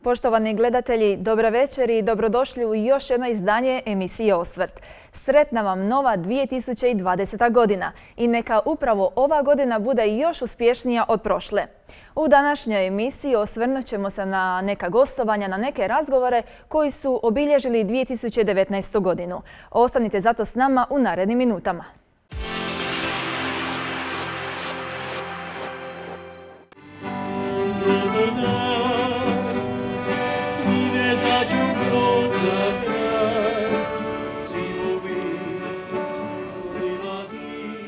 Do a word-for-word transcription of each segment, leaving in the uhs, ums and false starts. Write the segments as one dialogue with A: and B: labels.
A: Poštovani gledatelji, dobra večer i dobrodošli u još jedno izdanje emisije Osvrt. Sretna vam nova dvije tisuće dvadeseta. godina i neka upravo ova godina bude još uspješnija od prošle. U današnjoj emisiji osvrnut ćemo se na neka gostovanja, na neke razgovore koji su obilježili dvije tisuće devetnaestu. godinu. Ostanite zato s nama u narednim minutama.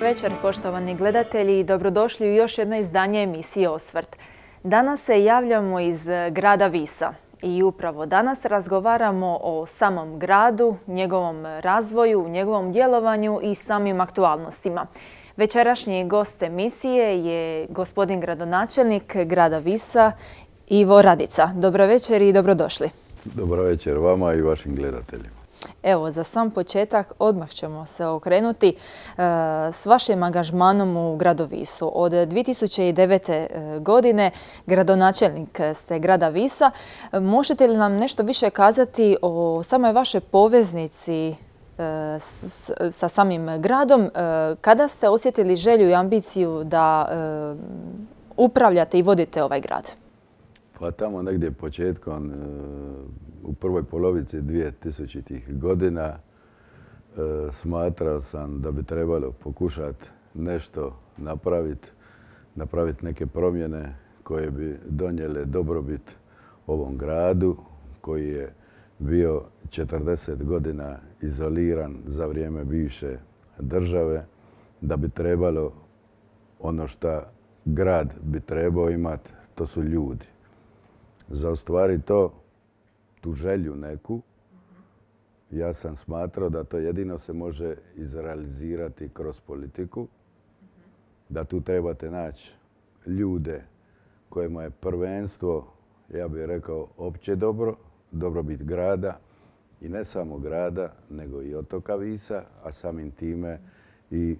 A: Večer, poštovani gledatelji, i dobrodošli u još jedno izdanje emisije Osvrt. Danas se javljamo iz grada Visa i upravo danas razgovaramo o samom gradu, njegovom razvoju, njegovom djelovanju i samim aktualnostima. Večerašnji gost emisije je gospodin gradonačelnik grada Visa, Ivo Radica. Dobro večer i dobrodošli.
B: Dobro večer vama i vašim gledateljima.
A: Evo, za sam početak odmah ćemo se okrenuti e, s vašim angažmanom u gradu Visu. Od dvije tisuće devete. godine gradonačelnik ste grada Visa. Možete li nam nešto više kazati o samoj vašoj poveznici e, s, sa samim gradom? E, kada ste osjetili želju i ambiciju da e, upravljate i vodite ovaj grad?
B: Pa tamo negdje početkom, u prvoj polovici dvije tisućitih. godina smatrao sam da bi trebalo pokušati nešto napraviti, napraviti neke promjene koje bi donijele dobrobit ovom gradu koji je bio četrdeset godina izoliran za vrijeme bivše države, da bi trebalo ono što grad bi trebao imati, to su ljudi. Za ostvariti to, tu želju neku, ja sam smatrao da to jedino se može izrealizirati kroz politiku, da tu trebate naći ljude kojima je prvenstvo, ja bih rekao, opće dobro, dobrobit grada i ne samo grada, nego i otoka Visa, a samim time i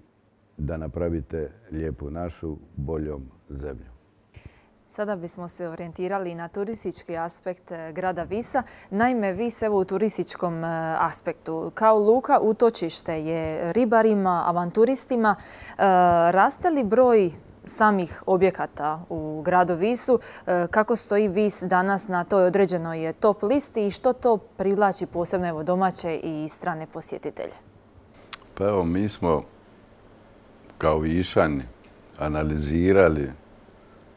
B: da napravite lijepu našu boljom zemlju.
A: Sada bismo se orijentirali na turistički aspekt grada Visa. Naime, Vis evo u turističkom aspektu kao luka utočište je ribarima, avanturistima. Raste li broj samih objekata u gradu Visu? Kako stoji Vis danas na toj određenoj top listi i što to privlači posebno evo domaće i strane posjetitelje?
B: Pa evo, mi smo kao Višani analizirali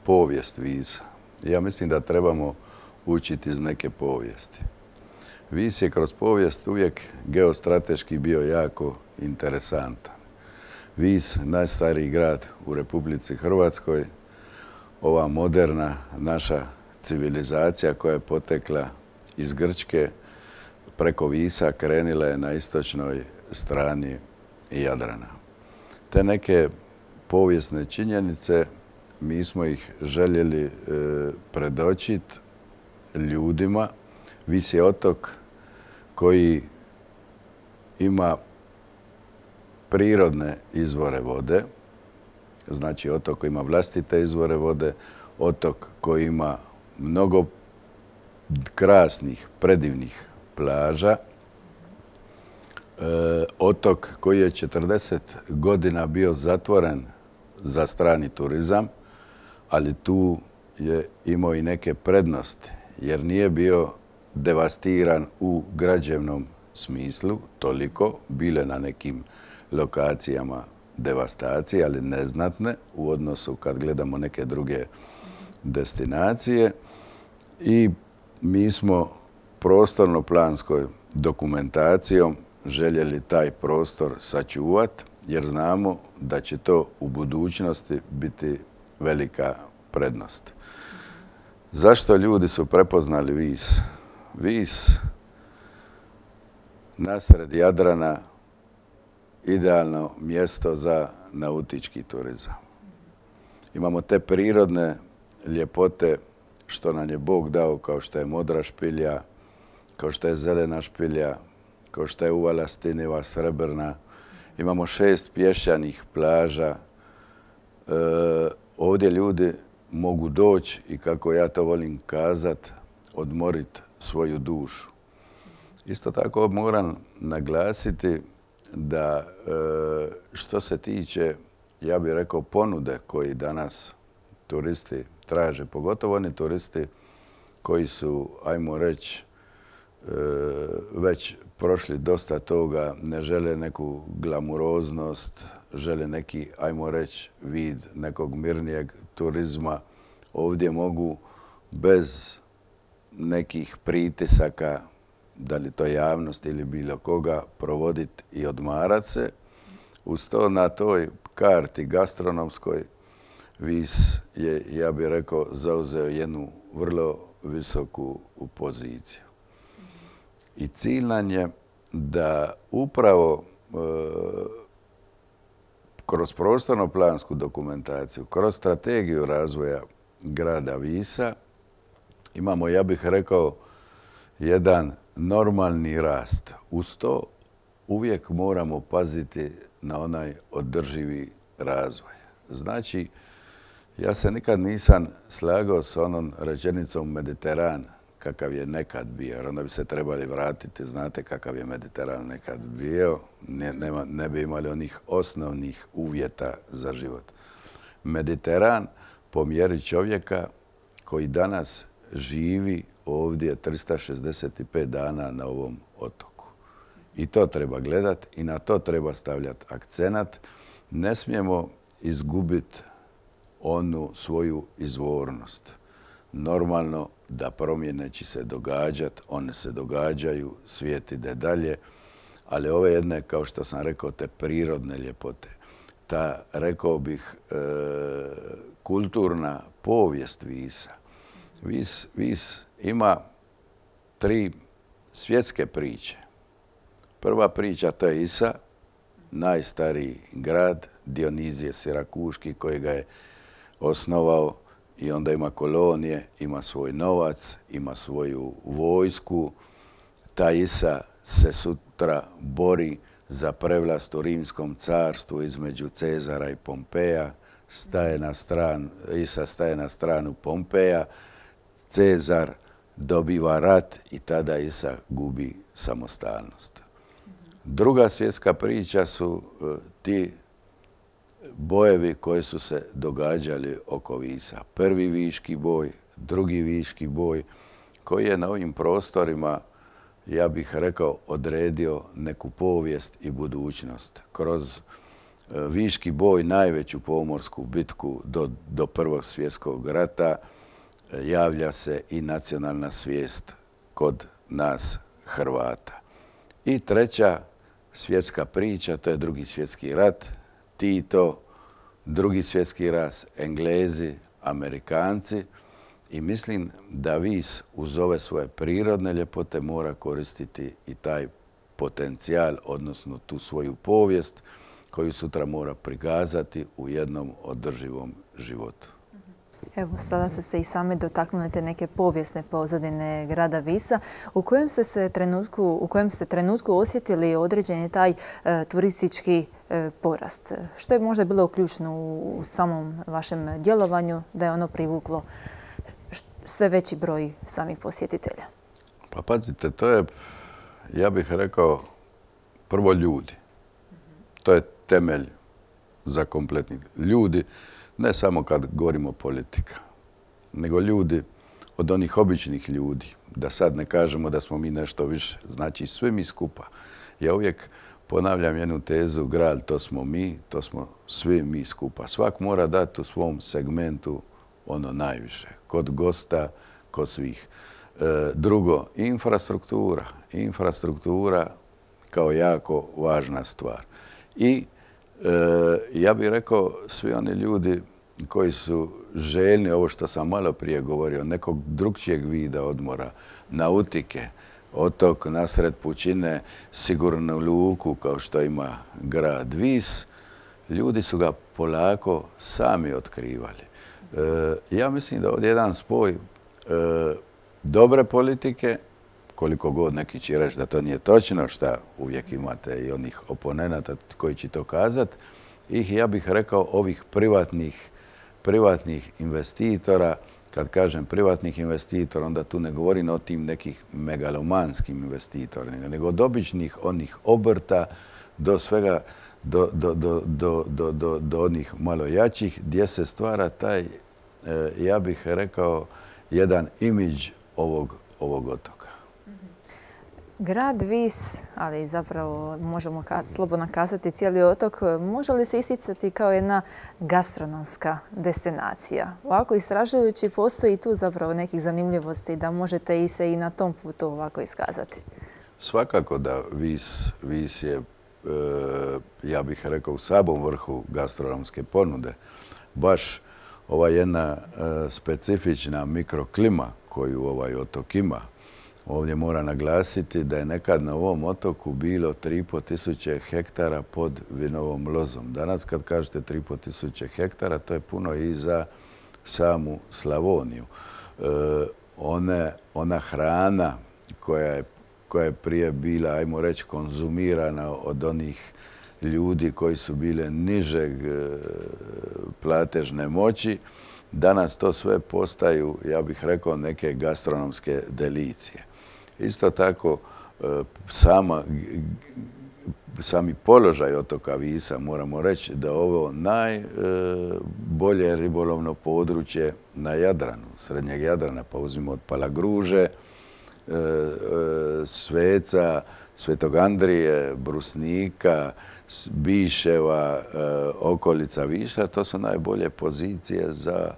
B: povijest Visa. Ja mislim da trebamo učiti iz neke povijesti. Vis je kroz povijest uvijek geostrateški bio jako interesantan. Vis, najstariji grad u Republici Hrvatskoj, ova moderna naša civilizacija koja je potekla iz Grčke, preko Visa krenila je na istočnoj strani Jadrana. Te neke povijesne činjenice mi smo ih željeli e, predočiti ljudima. Vis je otok koji ima prirodne izvore vode, znači otok koji ima vlastite izvore vode, otok koji ima mnogo krasnih, predivnih plaža, e, otok koji je četrdeset godina bio zatvoren za strani turizam, ali tu je imao i neke prednosti, jer nije bio devastiran u građevnom smislu toliko, bile na nekim lokacijama devastacije, ali neznatne u odnosu kad gledamo neke druge destinacije. I mi smo prostorno-planskoj dokumentacijom željeli taj prostor sačuvati, jer znamo da će to u budućnosti biti velika prednost. Zašto ljudi su prepoznali Vis? Vis nasred Jadrana idealno mjesto za nautički turizam. Imamo te prirodne ljepote što nam je Bog dao, kao što je Modra špilja, kao što je Zelena špilja, kao što je uvala Stiniva, Srebrna. Imamo šest pješčanih plaža. E, ovdje ljudi mogu doći i, kako ja to volim kazat, odmoriti svoju dušu. Isto tako moram naglasiti da što se tiče, ja bih rekao, ponude koji danas turisti traže, pogotovo oni turisti koji su, ajmo reći, već prošli dosta toga, ne žele neku glamuroznost, žele neki, ajmo reći, vid nekog mirnijeg turizma. Ovdje mogu bez nekih pritisaka, da li to javnost ili bilo koga, provoditi i odmarati se. Uz to na toj karti gastronomskoj Vis je, ja bih rekao, zauzeo jednu vrlo visoku poziciju. I cilj nam je da upravo e, kroz prostorno-plansku dokumentaciju, kroz strategiju razvoja grada Visa imamo, ja bih rekao, jedan normalni rast. Uz to uvijek moramo paziti na onaj održivi razvoj. Znači, ja se nikad nisam slagao s onom rečenicom Mediteran kakav je nekad bio, jer onda bi se trebali vratiti, znate kakav je Mediteran nekad bio, ne, nema, ne bi imali onih osnovnih uvjeta za život. Mediteran po mjeri čovjeka koji danas živi ovdje trista šezdeset pet dana na ovom otoku. I to treba gledati i na to treba stavljati akcenat. Ne smijemo izgubiti onu svoju izvornost. Normalno da promjene će se događati, one se događaju, svijet ide dalje, ali ove jedne, kao što sam rekao, te prirodne ljepote, ta, rekao bih, e, kulturna povijest Visa. Vis, Vis ima tri svjetske priče. Prva priča to je Isa, najstariji grad, Dionizije Sirakuški, koji ga je osnovao i onda ima kolonije, ima svoj novac, ima svoju vojsku. Ta Isa se sutra bori za prevlast u Rimskom carstvu između Cezara i Pompeja. Staje na stran, Isa staje na stranu Pompeja, Cezar dobiva rat i tada Isa gubi samostalnost. Druga svjetska priča su ti bojevi koji su se događali oko Visa. Prvi viški boj, drugi viški boj, koji je na ovim prostorima, ja bih rekao, odredio neku povijest i budućnost. Kroz viški boj, najveću pomorsku bitku do, do Prvog svjetskog rata, javlja se i nacionalna svijest kod nas Hrvata. I treća svjetska priča, to je Drugi svjetski rat, Tito, Drugi svjetski rat, Englezi, Amerikanci, i mislim da Vis uz ove svoje prirodne ljepote mora koristiti i taj potencijal, odnosno tu svoju povijest koju sutra mora prikazati u jednom održivom životu.
A: Evo, sada ste se i sami dotaknuli te neke povijesne pozadine grada Visa. U kojem ste se trenutku, u kojem ste trenutku osjetili određeni taj e, turistički e, porast? Što je možda bilo ključno u, u samom vašem djelovanju da je ono privuklo sve veći broj samih posjetitelja?
B: Pa pazite, to je, ja bih rekao, prvo ljudi. To je temelj za kompletni ljudi. Ne samo kad govorimo politika, nego ljudi od onih običnih ljudi. Da sad ne kažemo da smo mi nešto više. Znači, svi mi skupa. Ja uvijek ponavljam jednu tezu, grad to smo mi, to smo svi mi skupa. Svak mora dati u svom segmentu ono najviše. Kod gosta, kod svih. E, drugo, infrastruktura. Infrastruktura kao jako važna stvar. I E, ja bih rekao, svi oni ljudi koji su željni, ovo što sam malo prije govorio, nekog drugčijeg vida odmora, nautike, otok nasred pučine, sigurnu luku kao što ima grad Vis, ljudi su ga polako sami otkrivali. E, ja mislim da ovdje jedan spoj e, dobre politike, koliko god neki će reći da to nije točno, šta uvijek imate i onih oponenata koji će to kazati, i ja bih rekao ovih privatnih, privatnih investitora kad kažem privatnih investitora, onda tu ne govorim o tim nekih megalomanskim investitorima, nego od običnih onih obrta do svega, do, do, do, do, do, do, do onih malo jačih, gdje se stvara taj, ja bih rekao, jedan imidž ovog, ovog otoka.
A: Grad Vis, ali zapravo možemo slobodno kazati cijeli otok, može li se isticati kao jedna gastronomska destinacija? Ovako istražujući, postoji tu zapravo nekih zanimljivosti da možete i se i na tom putu ovako iskazati?
B: Svakako da Vis, Vis je, ja bih rekao, u samom vrhu gastronomske ponude. Baš ova jedna specifična mikroklima koju ovaj otok ima. Ovdje mora naglasiti da je nekad na ovom otoku bilo tri i pol tisuće hektara pod vinovom lozom. Danas kad kažete tri i pol tisuće hektara, to je puno i za samu Slavoniju. E, one, ona hrana koja je, koja je prije bila, ajmo reći, konzumirana od onih ljudi koji su bile nižeg platežne moći, danas to sve postaju, ja bih rekao, neke gastronomske delicije. Isto tako, sama, sami položaj otoka Visa, moramo reći da ovo najbolje ribolovno područje na Jadranu, srednjeg Jadrana, pa uzmimo od Palagruže, Sveca, Svetog Andrije, Brusnika, Biševa, okolica Viša, to su najbolje pozicije za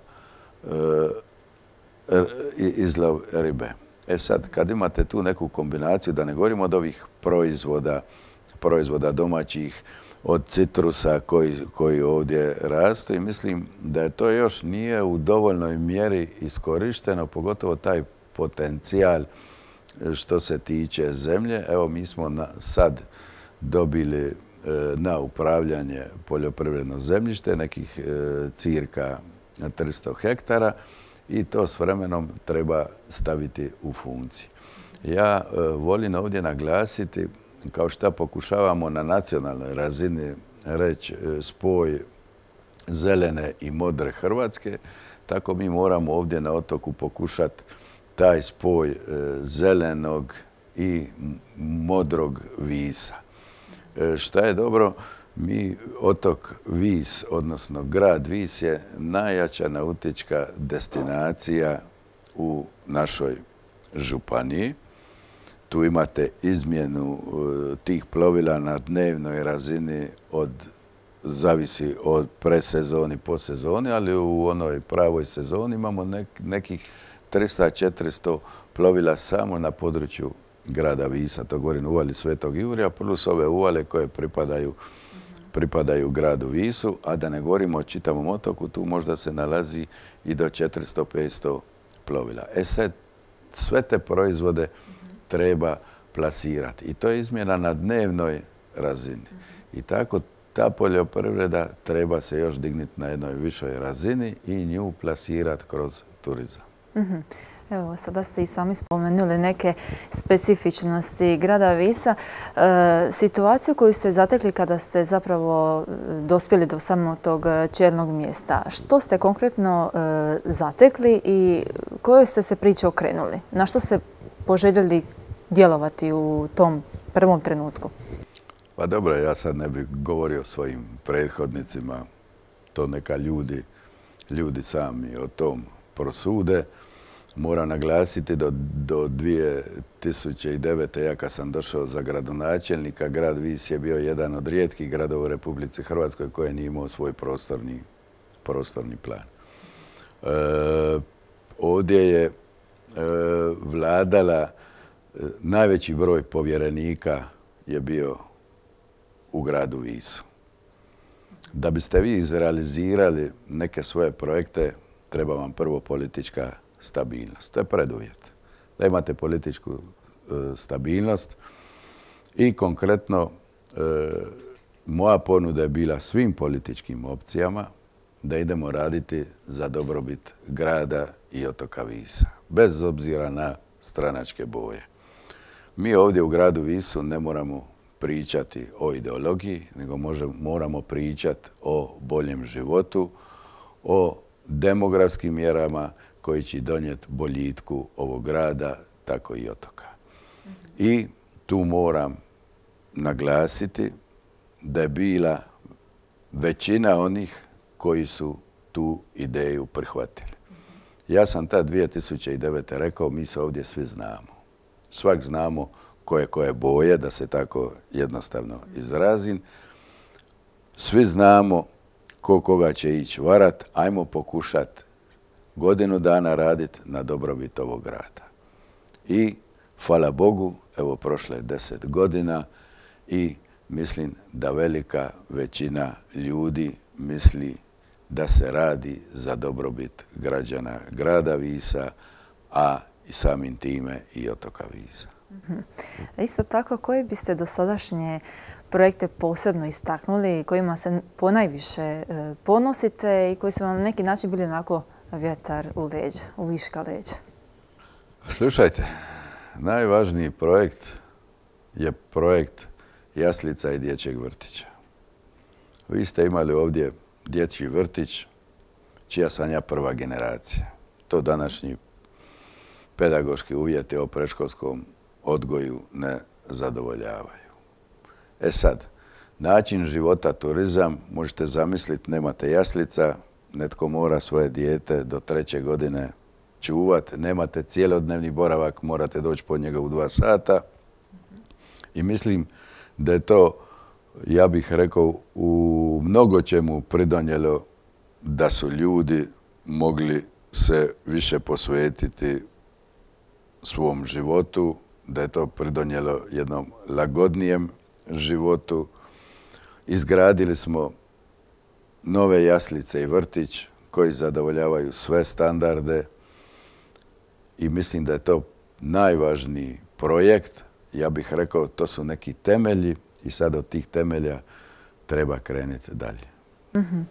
B: izlov ribe. E sad, kad imate tu neku kombinaciju, da ne govorimo od ovih proizvoda, proizvoda domaćih, od citrusa koji, koji ovdje rastu, i mislim da je to još nije u dovoljnoj mjeri iskorišteno, pogotovo taj potencijal što se tiče zemlje. Evo, mi smo na, sad dobili e, na upravljanje poljoprivredno zemljište, nekih e, cirka tristo hektara, i to s vremenom treba staviti u funkciju. Ja e, volim ovdje naglasiti, kao što pokušavamo na nacionalnoj razini reći, e, spoj zelene i modre Hrvatske, tako mi moramo ovdje na otoku pokušati taj spoj e, zelenog i modrog Visa. E, šta je dobro, mi otok Vis, odnosno grad Vis, je najjača nautička destinacija u našoj županiji. Tu imate izmjenu e, tih plovila na dnevnoj razini, od, zavisi od presezoni, posezoni, ali u onoj pravoj sezoni imamo nek, nekih tristo do četiristo plovila samo na području grada Visa. To govorim u uvali Svetog Jurija, plus ove uvale koje pripadaju, pripadaju gradu Visu, a da ne govorimo o čitavom otoku, tu možda se nalazi i do četiristo do petsto plovila. E sad, sve te proizvode treba plasirati. I to je izmjena na dnevnoj razini. I tako ta poljoprivreda treba se još dignuti na jednoj višoj razini i nju plasirati kroz turizam.
A: Mm-hmm. Evo, sada ste i sami spomenuli neke specifičnosti grada Visa. E, situaciju koju ste zatekli kada ste zapravo dospjeli do samog tog čelnog mjesta. Što ste konkretno e, zatekli i kojoj ste se priče okrenuli? Na što ste poželjeli djelovati u tom prvom trenutku?
B: Pa dobro, ja sad ne bih govorio o svojim prethodnicima. To neka ljudi, ljudi sami o tom prosude. Moram naglasiti do, do dvije tisuće devete. ja kad sam došao za gradonačelnika, grad Vis je bio jedan od rijetkih gradova u Republici Hrvatskoj koji nije imao svoj prostorni, prostorni plan. E, ovdje je e, vladala, e, najveći broj povjerenika je bio u gradu Visu. Da biste vi izrealizirali neke svoje projekte, treba vam prvo politička stabilnost. To je preduvjet. Da imate političku e, stabilnost i konkretno e, moja ponuda je bila svim političkim opcijama da idemo raditi za dobrobit grada i otoka Visa, bez obzira na stranačke boje. Mi ovdje u gradu Visu ne moramo pričati o ideologiji, nego možemo, moramo pričati o boljem životu, o demografskim mjerama, koji će donijeti boljitku ovog grada, tako i otoka. I tu moram naglasiti da je bila većina onih koji su tu ideju prihvatili. Ja sam tad dvije tisuće devete. rekao, mi se ovdje svi znamo. Svak znamo koje koje boje, da se tako jednostavno izrazim. Svi znamo ko koga će ići varat. Ajmo pokušati godinu dana raditi na dobrobit ovog grada. I hvala Bogu, evo prošle je deset godina i mislim da velika većina ljudi misli da se radi za dobrobit građana grada Visa, a i samim time i otoka Visa.
A: Mm-hmm. Isto tako, koji biste dosadašnje projekte posebno istaknuli, kojima se ponajviše ponosite i koji su vam na neki način bili onako vjetar u leđa, u viška leđa?
B: Slušajte, najvažniji projekt je projekt jaslica i dječjeg vrtića. Vi ste imali ovdje dječji vrtić, čija sam ja prva generacija. To današnji pedagoški uvjeti o predškolskom odgoju ne zadovoljavaju. E sad, način života, turizam, možete zamisliti, nemate jaslica, netko mora svoje dijete do treće godine čuvat, nemate cijelodnevni boravak, morate doći po njega u dva sata. I mislim da je to, ja bih rekao, u mnogo čemu pridonijelo da su ljudi mogli se više posvetiti svom životu, da je to pridonijelo jednom lagodnijem životu. Izgradili smo nove jaslice i vrtić koji zadovoljavaju sve standarde i mislim da je to najvažniji projekt. Ja bih rekao, to su neki temelji i sad od tih temelja treba krenuti dalje.
A: Mm-hmm.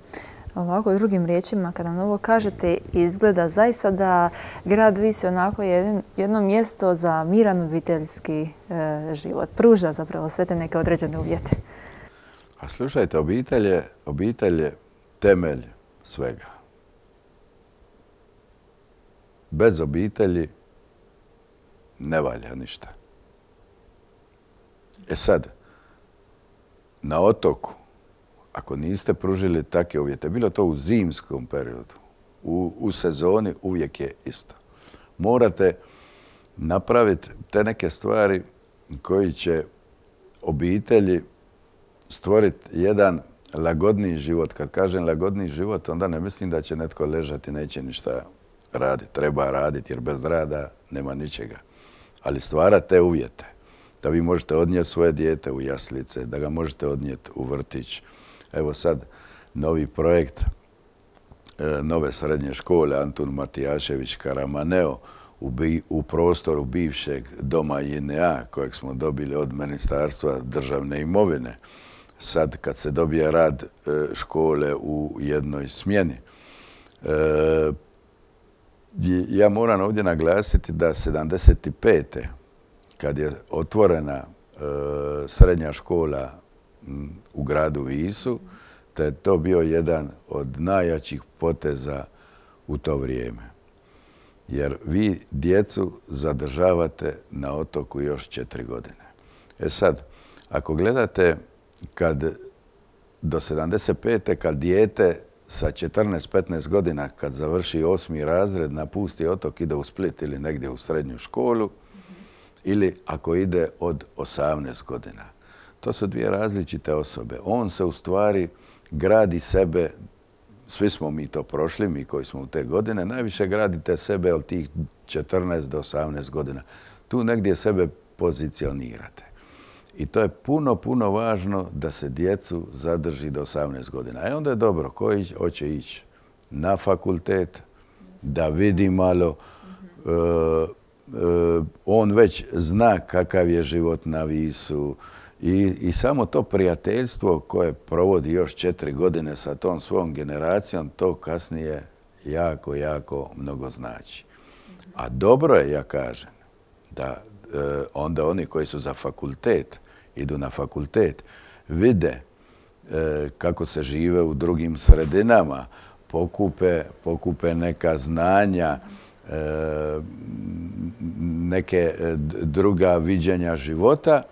A: Ovako, drugim riječima, kada nam ovo kažete, izgleda zaista da grad Vis je onako jedno, jedno mjesto za miran obiteljski e, život. Pruža zapravo sve te neke određene uvjete.
B: A slušajte, obitelj je, obitelj je temelj svega. Bez obitelji ne valja ništa. E sad, na otoku, ako niste pružili takve uvjete, bilo to u zimskom periodu, u, u sezoni uvijek je isto. Morate napraviti te neke stvari koji će obitelji stvoriti jedan lagodniji život. Kad kažem lagodniji život, onda ne mislim da će netko ležati, neće ništa raditi. Treba raditi jer bez rada nema ničega. Ali stvara te uvjete da vi možete odnijeti svoje dijete u jaslice, da ga možete odnijeti u vrtić. Evo sad novi projekt e, nove srednje škole Antun Matijašević Karamaneo u, bi, u prostoru bivšeg doma J N A kojeg smo dobili od Ministarstva državne imovine. Sad kad se dobije rad e, škole u jednoj smjeni. E, ja moram ovdje naglasiti da sedamdeset pete kad je otvorena e, srednja škola m, u gradu Visu, da je to bio jedan od najjačih poteza u to vrijeme. Jer vi djecu zadržavate na otoku još četiri godine. E sad, ako gledate kad do sedamdeset pete kad dijete sa četrnaest petnaest godina, kad završi osmi razred, napusti otok, ide u Split ili negdje u srednju školu, mm-hmm. ili ako ide od osamnaest godina. To su dvije različite osobe. On se u stvari gradi sebe, svi smo mi to prošli, mi koji smo u te godine, najviše gradite sebe od tih četrnaest do osamnaest godina. Tu negdje sebe pozicionirate. I to je puno, puno važno da se djecu zadrži do osamnaest godina. E onda je dobro, ko hoće ići na fakultet, da vidi malo, mm-hmm. uh, uh, on već zna kakav je život na Visu i, i samo to prijateljstvo koje provodi još četiri godine sa tom svom generacijom, to kasnije jako, jako mnogo znači. Mm-hmm. A dobro je, ja kažem, da uh, onda oni koji su za fakultet, idu na fakultet, vide e, kako se žive u drugim sredinama, pokupe, pokupe neka znanja, neke druga viđenja života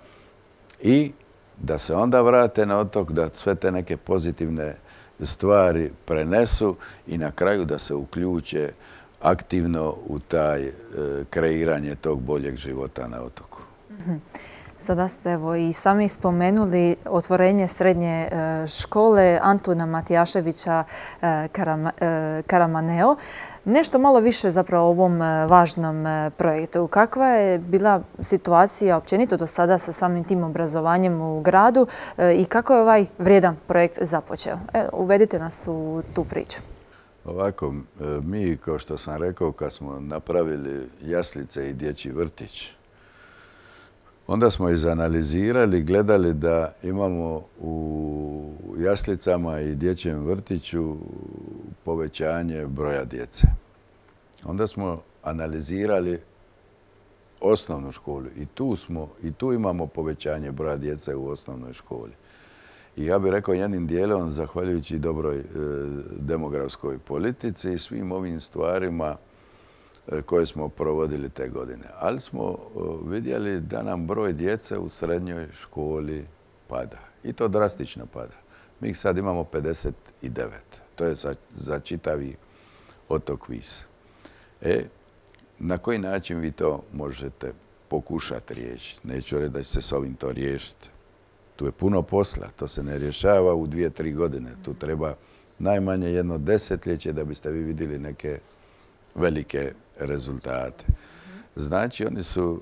B: i da se onda vrate na otok, da sve te neke pozitivne stvari prenesu i na kraju da se uključe aktivno u taj kreiranje tog boljeg života na otoku.
A: Sada ste evo i sami spomenuli otvorenje srednje škole Antuna Matijaševića Karamaneo. Nešto malo više zapravo o ovom važnom projektu. Kakva je bila situacija općenito do sada sa samim tim obrazovanjem u gradu i kako je ovaj vrijedan projekt započeo? Evo, uvedite nas u tu priču.
B: Ovako, mi, kao što sam rekao, kad smo napravili jaslice i dječji vrtić, onda smo izanalizirali, gledali da imamo u jaslicama i dječjem vrtiću povećanje broja djece. Onda smo analizirali osnovnu školu i tu smo, i tu imamo povećanje broja djece u osnovnoj školi. I ja bih rekao jednim dijelom, zahvaljujući dobroj e, demografskoj politici i svim ovim stvarima koje smo provodili te godine. Ali smo vidjeli da nam broj djece u srednjoj školi pada. I to drastično pada. Mi ih sad imamo pedeset devet. To je za, za čitavi otok Vis. E, na koji način vi to možete pokušati riješiti? Neću reći da će se s ovim to riješiti. Tu je puno posla. To se ne rješava u dvije, tri godine. Tu treba najmanje jedno desetljeće da biste vi vidjeli neke velike rezultate. Znači, oni su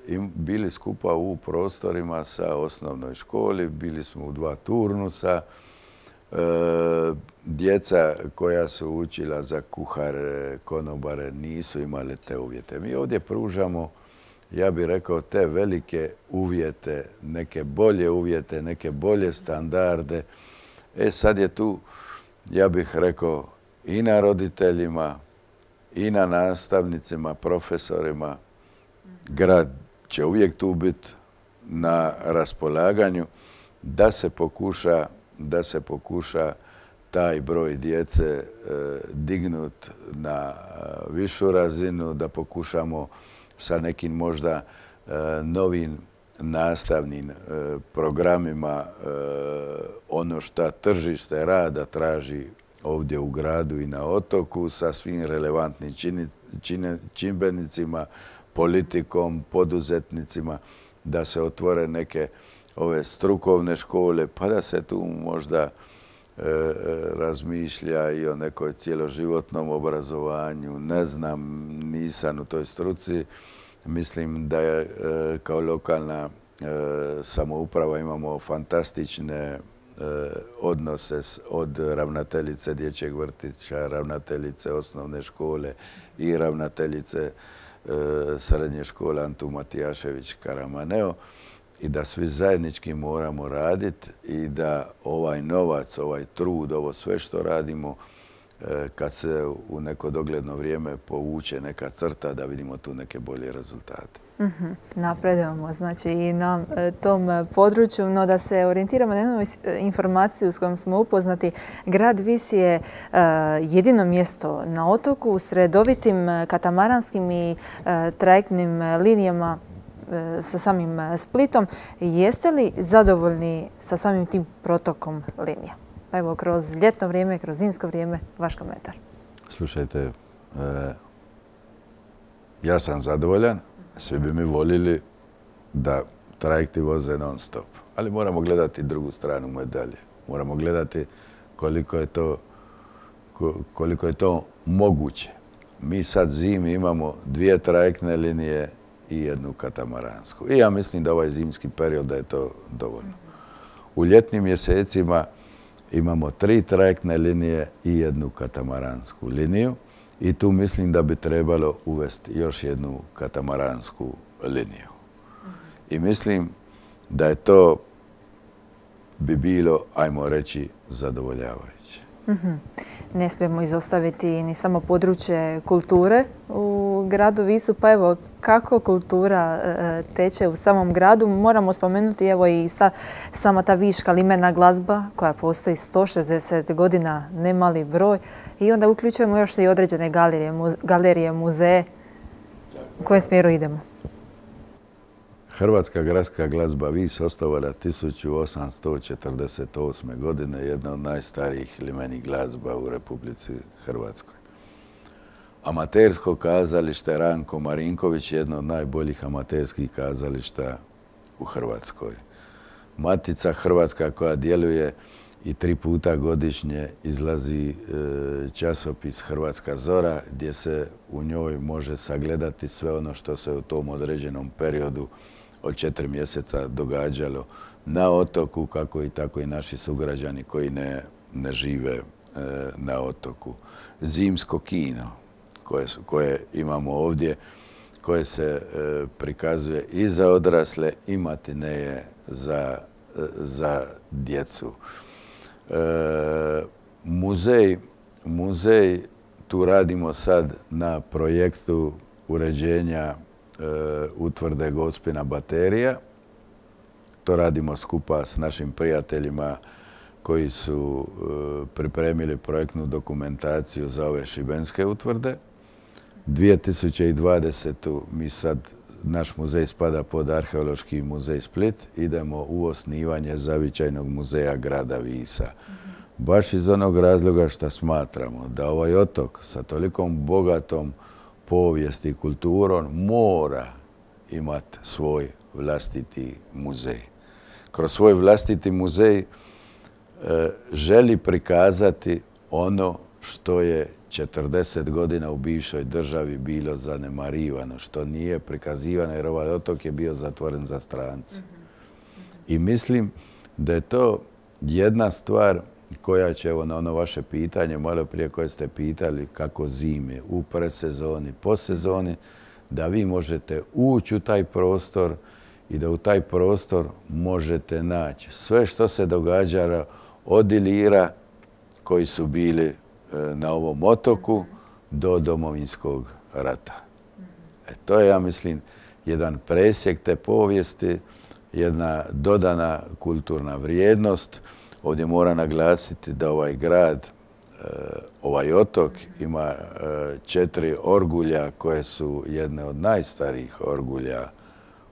B: e, im, bili skupa u prostorima sa osnovnoj školi, bili smo u dva turnusa. E, djeca koja su učila za kuhare, konobare, nisu imali te uvjete. Mi ovdje pružamo, ja bih rekao, te velike uvjete, neke bolje uvjete, neke bolje standarde. E, sad je tu, ja bih rekao, i na roditeljima, i na nastavnicima, profesorima. Grad će uvijek tu biti na raspolaganju da se pokuša, da se pokuša taj broj djece e, dignut na višu razinu, da pokušamo sa nekim možda e, novim nastavnim e, programima e, ono što tržište rada traži ovdje u gradu i na otoku sa svim relevantnim čini, čine, čimbenicima, politikom, poduzetnicima, da se otvore neke ove strukovne škole, pa da se tu možda e, razmišlja i o nekoj cjeloživotnom obrazovanju. Ne znam, nisam u toj struci. Mislim da je e, kao lokalna e, samouprava imamo fantastične odnose od ravnateljice dječjeg vrtića, ravnateljice osnovne škole i ravnateljice srednje škole Antun Matijašević Karamaneo i da svi zajednički moramo raditi i da ovaj novac, ovaj trud, ovo sve što radimo, kad se u neko dogledno vrijeme povuče neka crta da vidimo tu neke bolje rezultate.
A: Mm-hmm. Napredujemo znači i na tom području, no da se orijentiramo na jednu informaciju s kojom smo upoznati. Grad Vis je uh, jedino mjesto na otoku s redovitim katamaranskim i uh, trajektnim linijama uh, sa samim Splitom. Jeste li zadovoljni sa samim tim protokom linija? Pa evo, kroz ljetno vrijeme, kroz zimsko vrijeme, vaš komentar.
B: Slušajte, e, ja sam zadovoljan. Svi bi mi voljeli da trajekti voze non stop. Ali moramo gledati drugu stranu medalje. Moramo gledati koliko je to, koliko je to moguće. Mi sad zimi imamo dvije trajektne linije i jednu katamaransku. I ja mislim da ovaj zimski period da je to dovoljno. U ljetnim mjesecima imamo tri trajektne linije i jednu katamaransku liniju. I tu mislim da bi trebalo uvesti još jednu katamaransku liniju. I mislim da je to bi bilo, ajmo reći, zadovoljavajuće.
A: Mm-hmm. Ne smijemo izostaviti ni samo područje kulture u u gradu Visu, pa evo, kako kultura teče u samom gradu? Moramo spomenuti evo i sa, sama ta viška limena glazba koja postoji sto šezdeset godina, nemali broj. I onda uključujemo još i određene galerije, galerije muzeje. U kojem smjeru idemo?
B: Hrvatska gradska glazba Vis osnovala tisuću osamsto četrdeset osme. godine, jedna od najstarijih limenih glazba u Republici Hrvatskoj. Amatersko kazalište Ranko Marinković je jedno od najboljih amaterskih kazališta u Hrvatskoj. Matica Hrvatska koja djeluje i tri puta godišnje izlazi časopis Hrvatska zora, gdje se u njoj može sagledati sve ono što se u tom određenom periodu od četiri mjeseca događalo na otoku, kako i tako i naši sugrađani koji ne, ne žive na otoku. Zimsko kino koje, koje imamo ovdje, koje se prikazuje i za odrasle i matineje za, za djecu. E, muzej, muzej, tu radimo sad na projektu uređenja e, utvrde Gospina baterija. To radimo skupa s našim prijateljima koji su e, pripremili projektnu dokumentaciju za ove šibenske utvrde. dvije tisuće dvadesete. mi sad, naš muzej spada pod Arheološki muzej Split, idemo u osnivanje zavičajnog muzeja grada Visa. Mm-hmm. Baš iz onog razloga što smatramo da ovaj otok sa tolikom bogatom povijesti i kulturom mora imati svoj vlastiti muzej. Kroz svoj vlastiti muzej e, želi prikazati ono što je četrdeset godina u bivšoj državi bilo zanemarivano, što nije prikazivano jer ovaj otok je bio zatvoren za strance. I mislim da je to jedna stvar koja će, evo na ono vaše pitanje, malo prije koje ste pitali kako zime, u predsezoni, posezoni, da vi možete ući u taj prostor i da u taj prostor možete naći sve što se događalo od Ilira koji su bili na ovom otoku do Domovinskog rata. E, to je, ja mislim, jedan presjek te povijesti, jedna dodana kulturna vrijednost. Ovdje moram naglasiti da ovaj grad, ovaj otok ima četiri orgulja koje su jedne od najstarijih orgulja,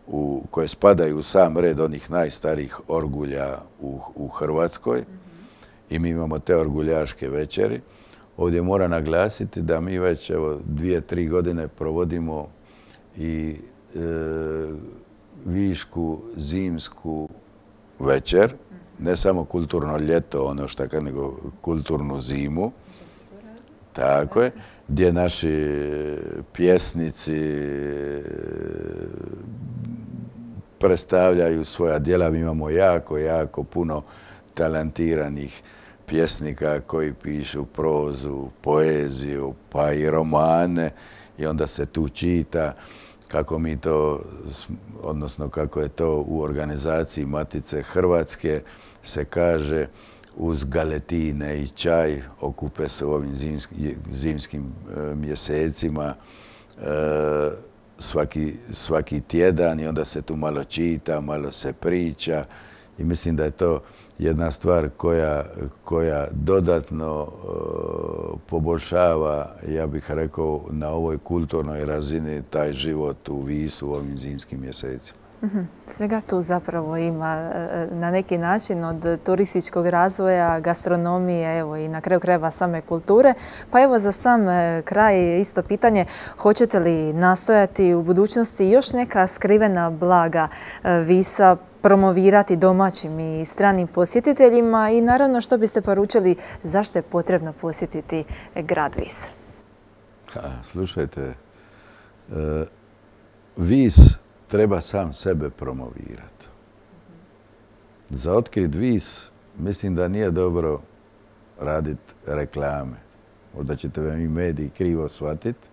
B: u, koje spadaju u sam red onih najstarijih orgulja u, u Hrvatskoj. I mi imamo te orguljaške večeri. Ovdje moram naglasiti da mi već evo, dvije, tri godine provodimo i e, višku zimsku večer, ne samo kulturno ljeto, ono što kad, nego kulturnu zimu. Tako je, gdje naši pjesnici predstavljaju svoja djela. Mi imamo jako, jako puno talentiranih pjesnika koji pišu prozu, poeziju, pa i romane i onda se tu čita kako mi to, odnosno kako je to u organizaciji Matice Hrvatske se kaže uz galetine i čaj okupe se u ovim zimskim, zimskim e, mjesecima e, svaki, svaki tjedan i onda se tu malo čita, malo se priča i mislim da je to jedna stvar koja, koja dodatno uh, poboljšava, ja bih rekao, na ovoj kulturnoj razini taj život u Visu u ovim zimskim mjesecima.
A: Mm-hmm. Svega tu zapravo ima na neki način od turističkog razvoja, gastronomije, evo i na kraju krajeva same kulture. Pa evo za sam kraj isto pitanje, hoćete li nastojati u budućnosti još neka skrivena blaga Visa promovirati domaćim i stranim posjetiteljima i naravno što biste poručili zašto je potrebno posjetiti grad Vis?
B: Ha, slušajte, e, Vis treba sam sebe promovirati. Za otkrit Vis mislim da nije dobro raditi reklame. Možda ćete vam i mediji krivo shvatiti.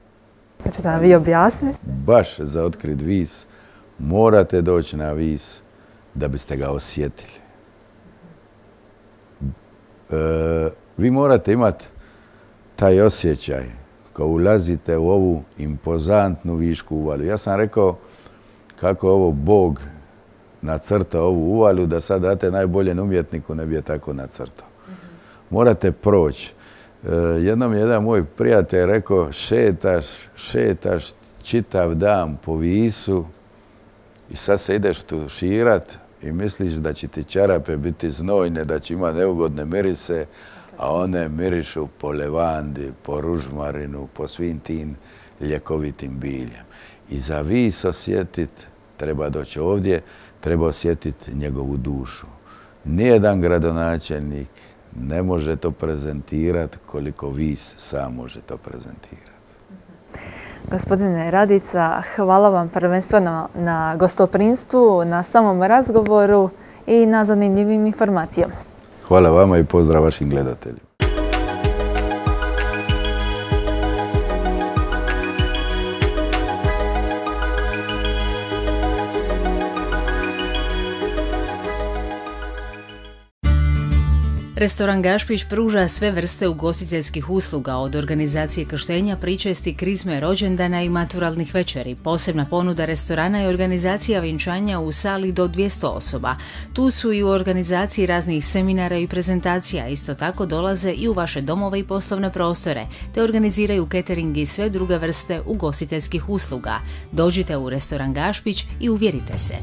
A: Pa ćete nam vi objasniti?
B: Baš za otkrit Vis morate doći na Vis da biste ga osjetili. E, vi morate imati taj osjećaj kao ulazite u ovu impozantnu Višku uvalu. Ja sam rekao kako ovo Bog nacrta ovu uvalu, da sad date najboljem umjetniku ne bi je tako nacrtao. Morate proći. Jednom je jedan moj prijatelj rekao, šetaš, šetaš čitav dan po Visu i sad se ideš tuširat i misliš da će ti čarape biti znojne, da će imati neugodne mirise, a one mirišu po levandi, po ružmarinu, po svim tim ljekovitim biljem. I za Vis osjetit, treba doći ovdje, treba osjetiti njegovu dušu. Nijedan gradonačelnik ne može to prezentirati koliko Vis sam može to prezentirati.
A: Gospodine Radica, hvala vam prvenstveno na gostoprinstvu, na samom razgovoru i na zanimljivim informacijama.
B: Hvala vama i pozdrav vašim gledateljima.
C: Restoran Gašpić pruža sve vrste ugostiteljskih usluga, od organizacije krštenja, pričesti, krizme, rođendana i maturalnih večeri. Posebna ponuda restorana je organizacija vjenčanja u sali do dvjesto osoba. Tu su i u organizaciji raznih seminara i prezentacija. Isto tako dolaze i u vaše domove i poslovne prostore, te organiziraju catering i sve druge vrste ugostiteljskih usluga. Dođite u restoran Gašpić i uvjerite se.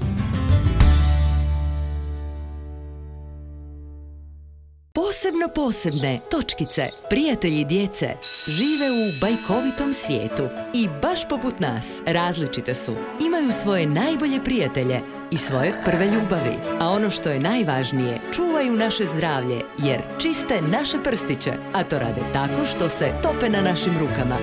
D: Posebno posebne točkice, prijatelji djece, žive u bajkovitom svijetu i baš poput nas različite su. Imaju svoje najbolje prijatelje i svoje prve ljubavi. A ono što je najvažnije, čuvaju naše zdravlje jer čiste naše prstiće, a to rade tako što se tope na našim rukama.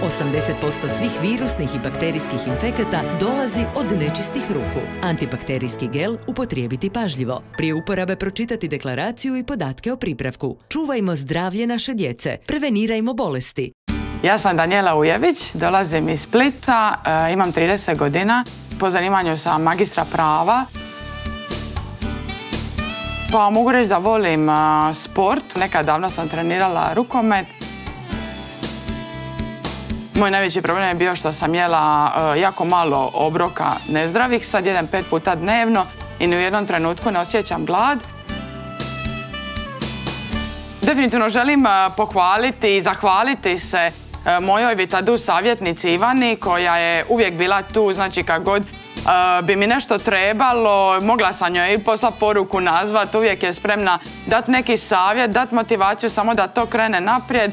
D: osamdeset posto svih virusnih i bakterijskih infekata dolazi od nečistih ruku. Antibakterijski gel upotrijebiti pažljivo. Prije uporabe pročitati deklaraciju i podatke o pripravku. Čuvajmo zdravlje naše djece. Prevenirajmo bolesti.
E: Ja sam Danijela Ujević, dolazim iz Splita, e, imam trideset godina. Po zanimanju sam magistra prava. Pa mogu reći da volim a, sport. Nekad davno sam trenirala rukomet. Moj najveći problem je bio što sam jela a, jako malo obroka nezdravih. Sad jedem pet puta dnevno i ni u jednom trenutku ne osjećam glad. Definitivno želim a, pohvaliti i zahvaliti se a, mojoj Vitadu savjetnici Ivani, koja je uvijek bila tu, znači kad god Uh, bi mi nešto trebalo, mogla sam joj i posla poruku nazvat, uvijek je spremna dati neki savjet, dati motivaciju samo da to krene naprijed.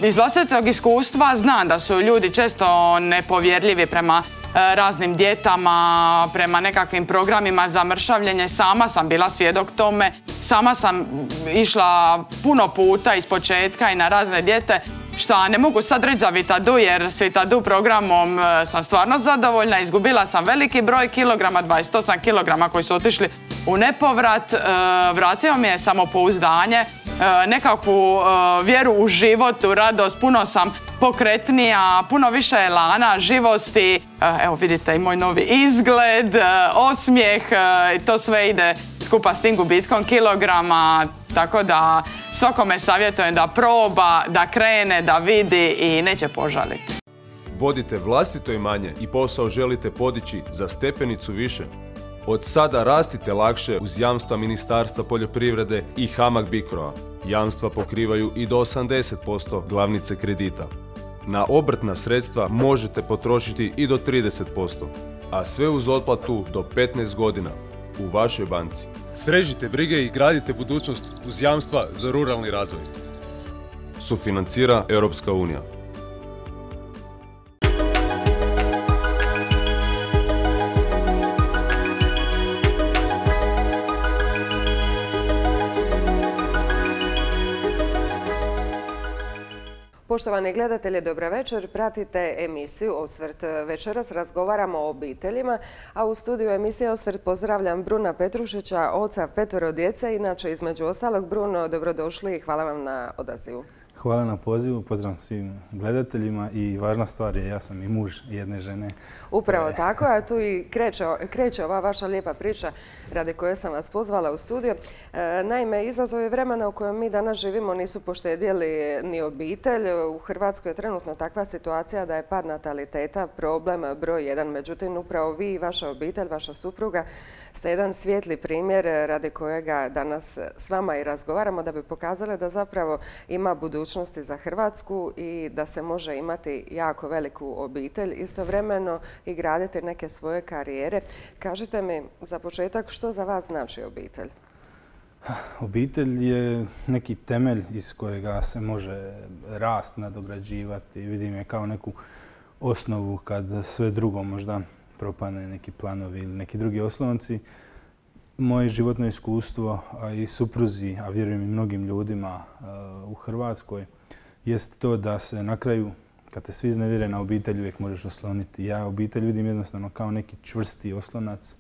E: Iz vlastitog iskustva znam da su ljudi često nepovjerljivi prema uh, raznim dijetama, prema nekakvim programima za mršavljenje. Sama sam bila svjedok tome, sama sam išla puno puta iz početka i na razne dijete. Šta ne mogu sad reći za Vitadu, jer s Vitadu programom sam stvarno zadovoljna. Izgubila sam veliki broj kilograma, dvadeset osam kilograma koji su otišli u nepovrat. Vratio mi je samopouzdanje, nekakvu vjeru u život, u radost. Puno sam pokretnija, puno više elana, živosti. Evo vidite i moj novi izgled, osmijeh, to sve ide skupa s tim gubitkom kilograma. Tako da svakome savjetujem da proba, da krene, da vidi i neće požaliti.
F: Vodite vlastito imanje i posao želite podići za stepenicu više? Od sada rastite lakše uz jamstva Ministarstva poljoprivrede i Hamag Bicroa. Jamstva pokrivaju i do osamdeset posto glavnice kredita. Na obrtna sredstva možete potrošiti i do trideset posto, a sve uz otplatu do petnaest godina u vašoj banci. Srežite brige i gradite budućnost uz jamstva za ruralni razvoj. Sufinancira Europska unija.
G: Poštovani gledatelji, dobra večer. Pratite emisiju Osvrt. Večeras razgovaramo o obiteljima, a u studiju emisije Osvrt pozdravljam Bruna Petrušića, oca petoro djece. Inače, između ostalog, Bruno, dobrodošli i hvala vam na odazivu.
H: Hvala na pozivu, pozdrav svim gledateljima i važna stvar je, ja sam i muž jedne žene.
G: Upravo tako, a tu i kreće, kreće ova vaša lijepa priča radi koje sam vas pozvala u studio. E, naime, izazovi vremena u kojem mi danas živimo nisu poštedjeli ni obitelj. U Hrvatskoj je trenutno takva situacija da je pad nataliteta problem broj jedan. Međutim, upravo vi i vaša obitelj, vaša supruga ste jedan svijetli primjer radi kojega danas s vama i razgovaramo da bi pokazali da zapravo ima budućnosti za Hrvatsku i da se može imati jako veliku obitelj istovremeno i graditi neke svoje karijere. Kažite mi za početak što za vas znači obitelj?
H: Obitelj je neki temelj iz kojega se može rast, nadograđivati. Vidim je kao neku osnovu kad sve drugo možda propane, neki planovi ili neki drugi oslonci. Moje životno iskustvo, a i supruzi, a vjerujem i mnogim ljudima u Hrvatskoj, jest to da se na kraju, kad te svi iznevjere, na obitelj uvijek možeš osloniti. Ja obitelj vidim jednostavno kao neki čvrsti oslonac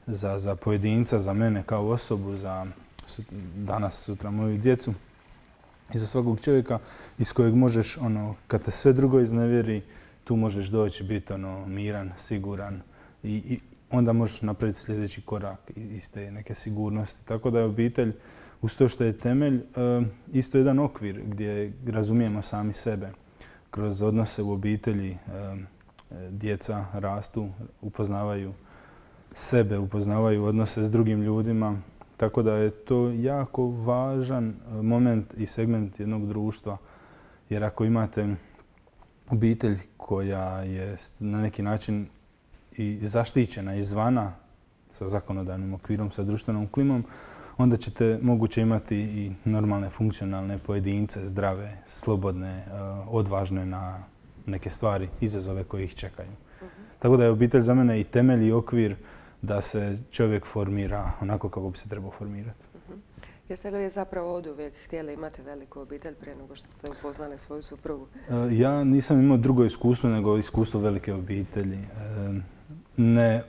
H: za, za pojedinca, za mene kao osobu, za danas, sutra moju djecu i za svakog čovjeka iz kojeg možeš, ono, kad te sve drugo iznevjeri, tu možeš doći, biti ono, miran, siguran i, i onda možeš napraviti sljedeći korak iz te neke sigurnosti. Tako da je obitelj, uz to što je temelj, isto jedan okvir gdje razumijemo sami sebe. Kroz odnose u obitelji djeca rastu, upoznavaju sebe, upoznavaju odnose s drugim ljudima. Tako da je to jako važan moment i segment jednog društva. Jer ako imate obitelj koja je na neki način i zaštićena izvana sa zakonodavnim okvirom, sa društvenom klimom, onda ćete moguće imati i normalne, funkcionalne pojedince, zdrave, slobodne, odvažne na neke stvari, izazove koje ih čekaju. Uh-huh. Tako da je obitelj za mene i temelj i okvir da se čovjek formira onako kako bi se trebao formirati.
G: Uh-huh. Jeste li zapravo oduvijek htjeli imati veliku obitelj prije nego što ste upoznali svoju suprugu?
H: Ja nisam imao drugo iskustvo nego iskustvo velike obitelji. Ne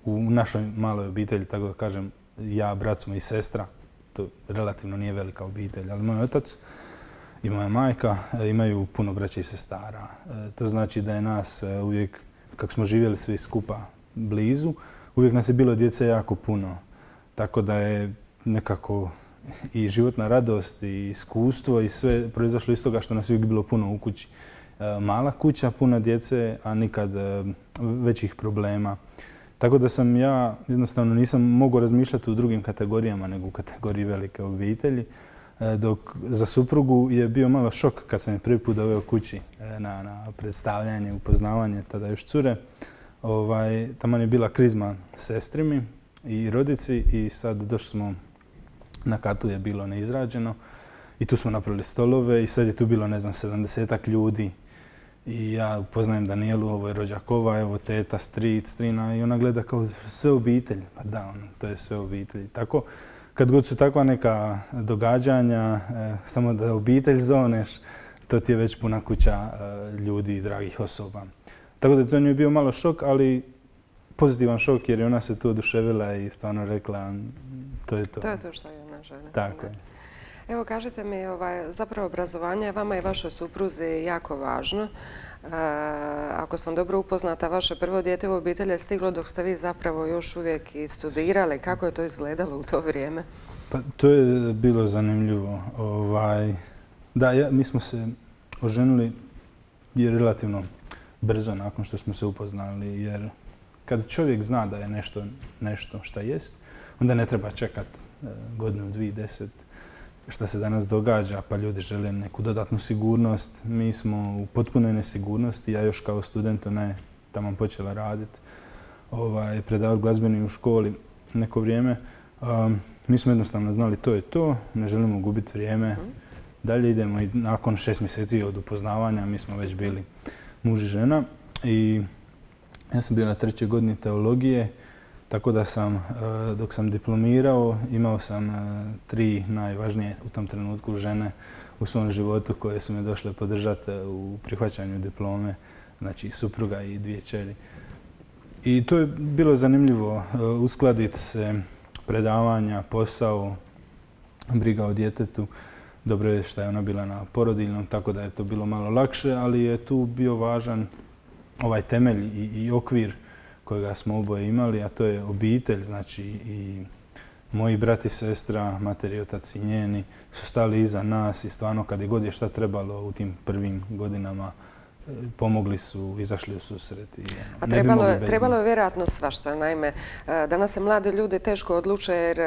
H: u našoj maloj obitelji, tako da kažem, ja, brat smo i sestra, to relativno nije velika obitelj, ali moj otac i moja majka imaju puno braća i sestara. To znači da je nas uvijek, kako smo živjeli svi skupa blizu, uvijek nas je bilo djece jako puno. Tako da je nekako i životna radost i iskustvo i sve proizašlo iz toga što nas je uvijek bilo puno u kući. Mala kuća, puno djece, a nikad većih problema. Tako da sam ja jednostavno nisam mogao razmišljati u drugim kategorijama nego u kategoriji velike obitelji. Dok za suprugu je bio malo šok kad sam je prvi put doveo kući na, na predstavljanje, upoznavanje, tada još cure. Ovaj, taman je bila krizma sestri mi i rodici i sad došli smo na katu, je bilo neizrađeno i tu smo napravili stolove i sad je tu bilo, ne znam, sedamdesetak ljudi. I ja upoznajem Danijelu, ovo je rođakova, evo teta, stric, strina i ona gleda kao sve obitelj. Pa da, ono, to je sve obitelj. Tako, kad god su takva neka događanja, e, samo da obitelj zoneš, to ti je već puna kuća e, ljudi i dragih osoba. Tako da to nije bio malo šok, ali pozitivan šok jer je ona se tu oduševila i stvarno rekla to je to.
G: To je to što je ona žena.
H: Tako je.
G: Evo, kažite mi, ovaj, zapravo obrazovanje je vama i vašoj supruzi jako važno. E, ako sam dobro upoznata, vaše prvo dijete u obitelji je stiglo dok ste vi zapravo još uvijek i studirali. Kako je to izgledalo u to vrijeme?
H: Pa to je bilo zanimljivo. Ovaj, da, ja, mi smo se oženili je relativno brzo nakon što smo se upoznali, jer kad čovjek zna da je nešto, nešto šta jest, onda ne treba čekati godinu, dvije, deset, šta se danas događa, pa ljudi žele neku dodatnu sigurnost. Mi smo u potpunoj nesigurnosti, ja još kao student ne tamo počela raditi, ovaj, predavati glazbeni u školi neko vrijeme. Um, mi smo jednostavno znali to je to, ne želimo gubiti vrijeme. Dalje idemo i nakon šest mjeseci od upoznavanja mi smo već bili muž i žena i ja sam bio na trećoj godini teologije, tako da sam, dok sam diplomirao, imao sam tri najvažnije u tom trenutku žene u svom životu koje su me došle podržati u prihvaćanju diplome, znači supruga i dvije kćeri. I to je bilo zanimljivo uskladiti se, predavanja, posao, briga o djetetu. dobro je što je ona bila na porodiljnom, tako da je to bilo malo lakše, ali je tu bio važan ovaj temelj i, i okvir kojega smo oboje imali, a to je obitelj, znači i moji brat i sestra, mater i otac i njeni su stali iza nas i stvarno kad je god je šta trebalo u tim prvim godinama pomogli su, izašli u susret. I,
G: A trebalo, je, trebalo je vjerojatno svašta. Naime, danas se mladi ljudi teško odluče jer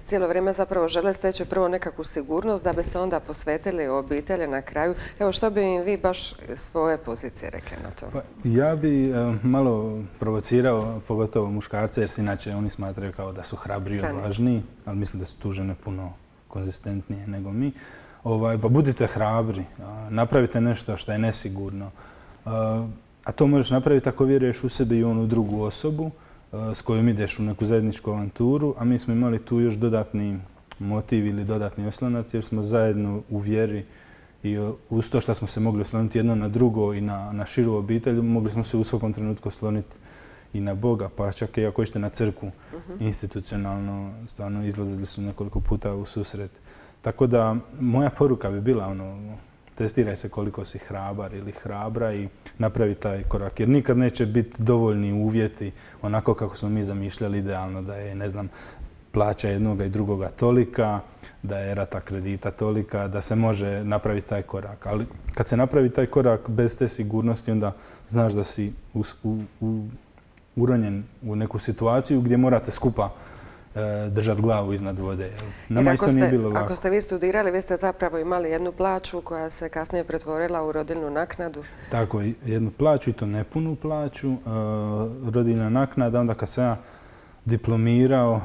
G: cijelo vrijeme zapravo žele steći prvo nekakvu sigurnost da bi se onda posvetili obitelji na kraju. Evo, što bi im vi baš svoje pozicije rekli na to?
H: Pa, ja bi malo provocirao, pogotovo muškarce, jer se inače oni smatraju kao da su hrabri i odvažniji, ali mislim da su tu žene puno konzistentnije nego mi. Ovaj, pa budite hrabri, napravite nešto što je nesigurno. A to možeš napraviti ako vjeruješ u sebe i onu drugu osobu s kojom ideš u neku zajedničku avanturu, a mi smo imali tu još dodatni motiv ili dodatni oslonac jer smo zajedno u vjeri i uz to što smo se mogli osloniti jedno na drugo i na, na širu obitelj, mogli smo se u svakom trenutku osloniti i na Boga, pa čak i ako ćete na crkvu uh-huh. institucionalno, stvarno izlazili su nekoliko puta u susret. Tako da moja poruka bi bila ono, testiraj se koliko si hrabar ili hrabra i napravi taj korak. Jer nikad neće biti dovoljni uvjeti onako kako smo mi zamišljali idealno da je, ne znam, plaća jednoga i drugoga tolika, da je rata kredita tolika, da se može napraviti taj korak. Ali kad se napravi taj korak bez te sigurnosti, onda znaš da si u, u, u, uronjen u neku situaciju gdje morate skupa držati glavu iznad vode. Nama isto nije bilo lako.
G: Ako ste vi studirali, vi ste zapravo imali jednu plaću koja se kasnije pretvorila u rodiljnu naknadu.
H: Tako, jednu plaću i to nepunu plaću. Rodiljna naknada, onda kad sam ja diplomirao,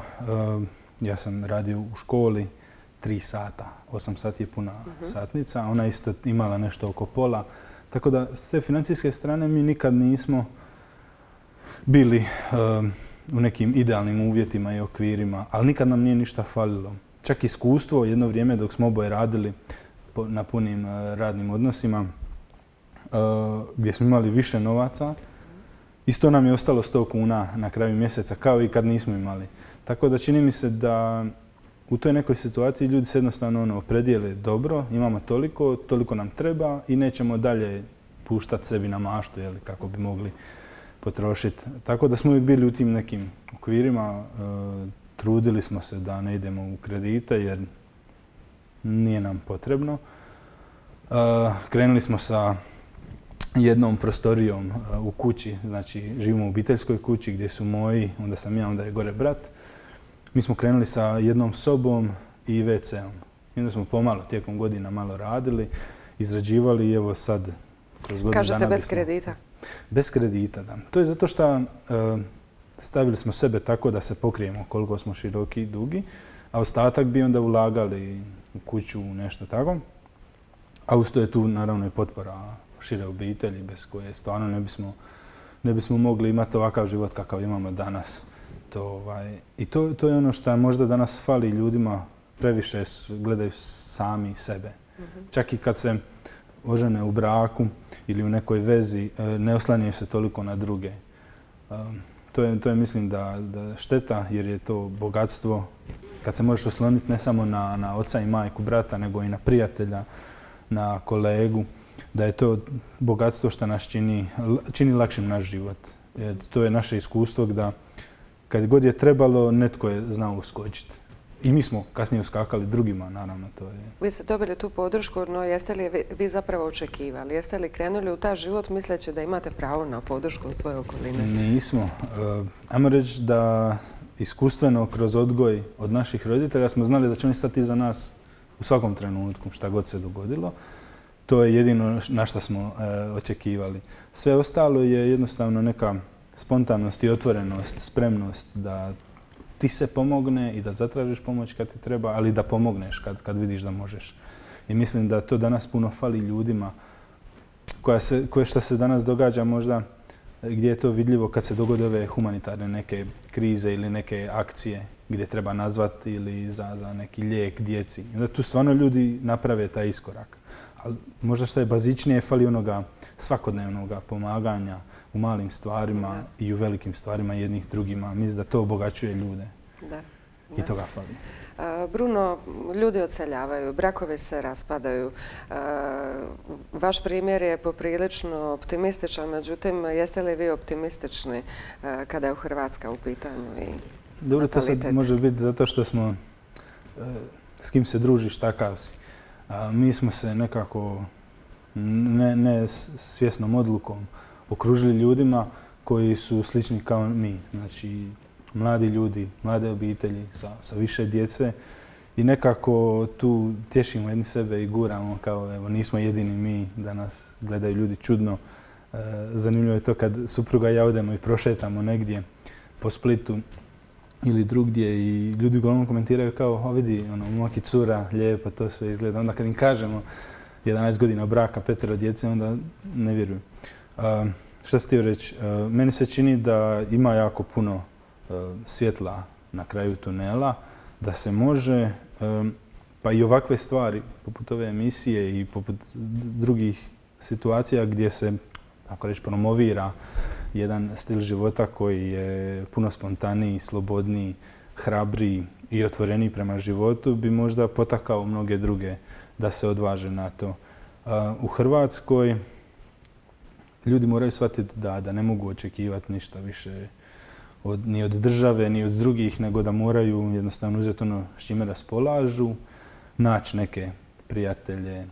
H: ja sam radio u školi tri sata. Osam sati je puna uh-huh. satnica. Ona isto imala nešto oko pola. Tako da s te financijske strane mi nikad nismo bili u nekim idealnim uvjetima i okvirima, ali nikad nam nije ništa falilo. Čak iskustvo, jedno vrijeme dok smo oboje radili na punim radnim odnosima, gdje smo imali više novaca, isto nam je ostalo sto kuna na kraju mjeseca, kao i kad nismo imali. Tako da čini mi se da u toj nekoj situaciji ljudi se jednostavno ono, opredijele dobro, imamo toliko, toliko nam treba i nećemo dalje puštati sebi na maštu, jeli, kako bi mogli potrošiti. Tako da smo uvijek bili u tim nekim okvirima, e, trudili smo se da ne idemo u kredite jer nije nam potrebno. E, krenuli smo sa jednom prostorijom e, u kući, znači živimo u obiteljskoj kući gdje su moji, onda sam ja, onda je gore brat. Mi smo krenuli sa jednom sobom i ve ce om. I onda smo pomalo tijekom godina malo radili, izrađivali i evo sad kroz godinu
G: Kažete
H: dana...
G: bez
H: bismo...
G: kredita?
H: Bez kredita, da. To je zato što uh, stavili smo sebe tako da se pokrijemo koliko smo široki i dugi, a ostatak bi onda ulagali u kuću, nešto tako. A uz to je tu naravno i potpora šire obitelji bez koje stvarno ne bismo, ne bismo mogli imati ovakav život kakav imamo danas. To, ovaj, I to, to je ono što možda danas fali ljudima, previše gledaju sami sebe. Mm-hmm. Čak i kad se ožene u braku ili u nekoj vezi, ne oslanjaju se toliko na druge. To je, to je mislim, da, da šteta jer je to bogatstvo kad se možeš osloniti ne samo na, na oca i majku, brata, nego i na prijatelja, na kolegu, da je to bogatstvo što nas čini, čini lakšim naš život. Jer to je naše iskustvo da kad god je trebalo, netko je znao uskočiti. I mi smo kasnije uskakali drugima, naravno. To je. Vi
G: ste dobili tu podršku, no jeste li vi, vi zapravo očekivali? Jeste li krenuli u taj život misleći da imate pravo na podršku u svojoj okoline?
H: Nismo. Uh, ajmo reći da iskustveno kroz odgoj od naših roditelja smo znali da će oni stati iza nas u svakom trenutku, šta god se dogodilo. To je jedino na što smo uh, očekivali. Sve ostalo je jednostavno neka spontanost i otvorenost, spremnost da ti se pomogne i da zatražiš pomoć kad ti treba, ali da pomogneš kad, kad vidiš da možeš. I mislim da to danas puno fali ljudima koja se, koje što se danas događa možda gdje je to vidljivo kad se dogode ove humanitarne neke krize ili neke akcije gdje treba nazvati ili za, za neki lijek djeci. I onda tu stvarno ljudi naprave taj iskorak. Ali možda što je bazičnije, fali onoga svakodnevnoga pomaganja u malim stvarima da. I u velikim stvarima jednih drugima. Mislim da to obogaćuje ljude.
G: Da.
H: i toga fali.
G: Bruno, ljudi odseljavaju, brakovi se raspadaju. Vaš primjer je poprilično optimističan, međutim, jeste li vi optimistični kada je u Hrvatska u pitanju i
H: dobro, to sad može biti zato što smo, s kim se družiš, takav si. Mi smo se nekako, ne, ne svjesnom odlukom, okružili ljudima koji su slični kao mi. Znači, mladi ljudi, mlade obitelji sa, sa više djece i nekako tu tješimo jedni sebe i guramo kao evo nismo jedini mi da nas gledaju ljudi čudno. E, zanimljivo je to kad supruga i ja odemo i prošetamo negdje po Splitu ili drugdje i ljudi uglavnom komentiraju kao o vidi, ono, momak i cura, lijepo, to sve izgleda. Onda kad im kažemo jedanaest godina braka, petero djece, onda ne vjeruju. E, šta se htio reći? E, meni se čini da ima jako puno svjetla na kraju tunela, da se može, pa i ovakve stvari, poput ove emisije i poput drugih situacija gdje se, ako reći, promovira jedan stil života koji je puno spontaniji, slobodniji, hrabriji i otvoreniji prema životu, bi možda potakao mnoge druge da se odvaže na to. U Hrvatskoj ljudi moraju shvatiti da, da ne mogu očekivati ništa više Od, ni od države, ni od drugih, nego da moraju jednostavno uzeti ono s čime raspolažu, naći neke prijatelje,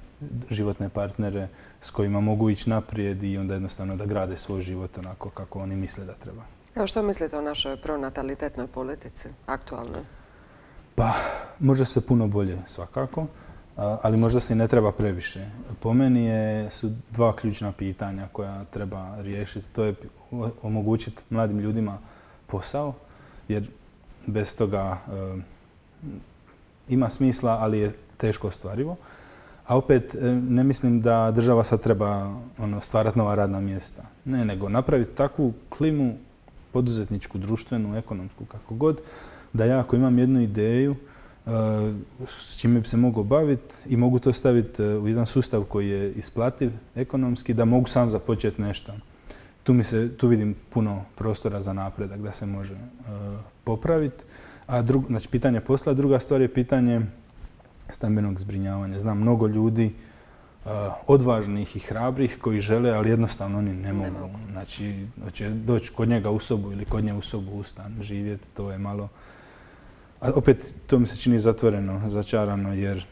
H: životne partnere s kojima mogu ići naprijed i onda jednostavno da grade svoj život onako kako oni misle da treba.
G: Evo, što mislite o našoj pronatalitetnoj politici, aktualnoj?
H: Pa, može se puno bolje svakako, ali možda se i ne treba previše. Po meni je, su dva ključna pitanja koja treba riješiti. To je omogućiti mladim ljudima posao, jer bez toga e, ima smisla, ali je teško ostvarivo. A opet e, ne mislim da država sad treba ono, stvarati nova radna mjesta. Ne, nego napraviti takvu klimu poduzetničku, društvenu, ekonomsku, kako god, da ja ako imam jednu ideju e, s čime bi se mogao baviti i mogu to staviti u jedan sustav koji je isplativ ekonomski, da mogu sam započeti nešto. Tu, mi se, tu vidim puno prostora za napredak da se može uh, popraviti. A drug, znači, pitanje posla, druga stvar je pitanje stambenog zbrinjavanja. Znam mnogo ljudi uh, odvažnih i hrabrih koji žele, ali jednostavno oni ne mogu. Ne mogu. Znači, hoće doći kod njega u sobu ili kod nje u sobu u stan živjeti, to je malo... A opet, to mi se čini zatvoreno, začarano, jer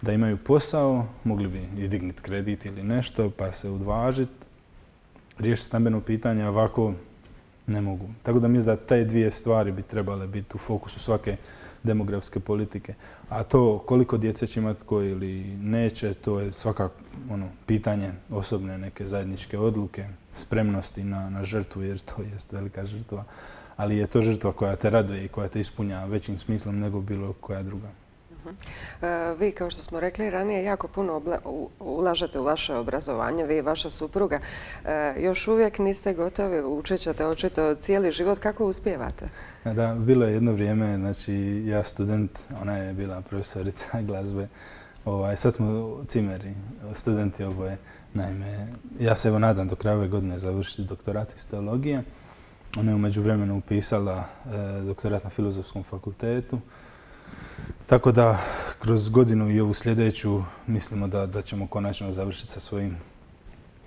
H: da imaju posao, mogli bi i dignuti kredit ili nešto, pa se odvažiti, riješiti stambeno pitanje, a ovako ne mogu. Tako da mislim da te dvije stvari bi trebale biti u fokusu svake demografske politike. A to koliko djece će imati tko ili neće, to je svakako ono, pitanje osobne neke zajedničke odluke, spremnosti na, na žrtvu, jer to jest velika žrtva. Ali je to žrtva koja te raduje i koja te ispunja većim smislom nego bilo koja druga.
G: Vi, kao što smo rekli ranije, jako puno ulažete u vaše obrazovanje, vi i vaša supruga. Još uvijek niste gotovi, učit ćete očito cijeli život. Kako uspijevate?
H: Da, bilo je jedno vrijeme, znači ja student, ona je bila profesorica glazbe. Ovaj, sad smo cimeri, studenti oboje. Naime, ja se evo nadam do kraja ove godine završiti doktorat iz teologije. Ona je u međuvremenu upisala e, doktorat na Filozofskom fakultetu. Tako da kroz godinu i ovu sljedeću mislimo da, da ćemo konačno završiti sa svojim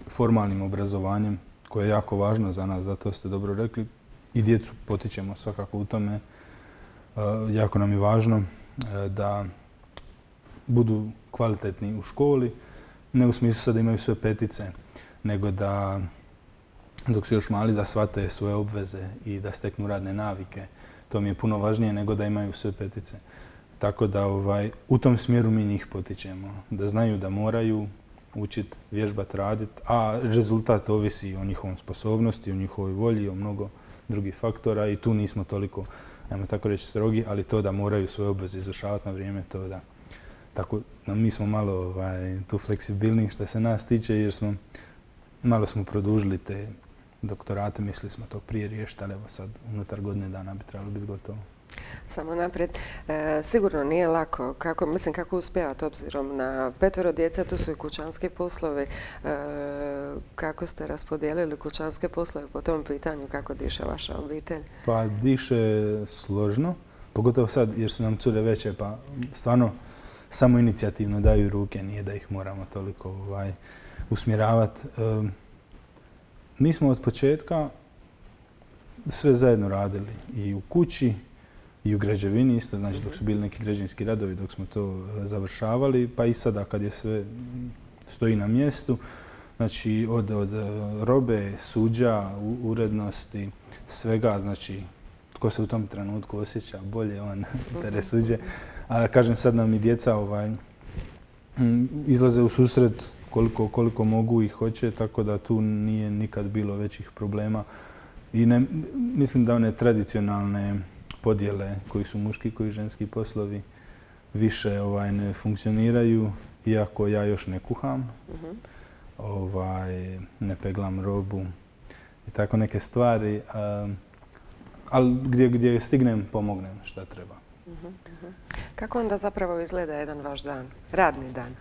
H: formalnim obrazovanjem koje je jako važno za nas, zato ste dobro rekli. I djecu potičemo svakako u tome. E, jako nam je važno e, da budu kvalitetni u školi, ne u smislu sad da imaju sve petice, nego da dok su još mali da shvate svoje obveze i da steknu radne navike. To mi je puno važnije nego da imaju sve petice. Tako da ovaj, u tom smjeru mi njih potičemo. Da znaju da moraju učiti, vježbati, raditi, a rezultat ovisi o njihovom sposobnosti, o njihovoj volji, o mnogo drugih faktora i tu nismo toliko, ajmo tako reći, strogi, ali to da moraju svoje obveze izvršavati na vrijeme, to da. Tako da mi smo malo ovaj, tu fleksibilni što se nas tiče jer smo malo smo produžili te doktorate, mislili smo to prije riješiti, ali evo sad unutar godine dana bi trebalo biti gotovo.
G: Samo naprijed. E, sigurno nije lako. Kako, mislim, kako uspijevate obzirom na petoro djece, tu su i kućanski poslovi. E, kako ste raspodijelili kućanske poslove po tom pitanju? Kako diše vaša obitelj?
H: Pa diše složno. pogotovo sad jer su nam cure veće, pa stvarno samo inicijativno daju ruke, nije da ih moramo toliko ovaj, usmjeravati. E, mi smo od početka sve zajedno radili i u kući i u građevini isto, znači dok su bili neki građevinski radovi, dok smo to završavali, pa i sada kad je sve stoji na mjestu, znači od, od robe, suđa, urednosti, svega, znači tko se u tom trenutku osjeća bolje, on tere suđe. A kažem, sad nam i djeca ovaj, izlaze u susret koliko, koliko mogu i hoće, tako da tu nije nikad bilo većih problema. I ne, mislim da one tradicionalne podjele koji su muški, koji ženski poslovi više ovaj, ne funkcioniraju, iako ja još ne kuham, uh-huh. ovaj, ne peglam robu i tako neke stvari, um, ali gdje, gdje stignem pomognem šta treba.
G: Uh-huh, uh-huh. Kako onda zapravo izgleda jedan vaš dan, radni dan?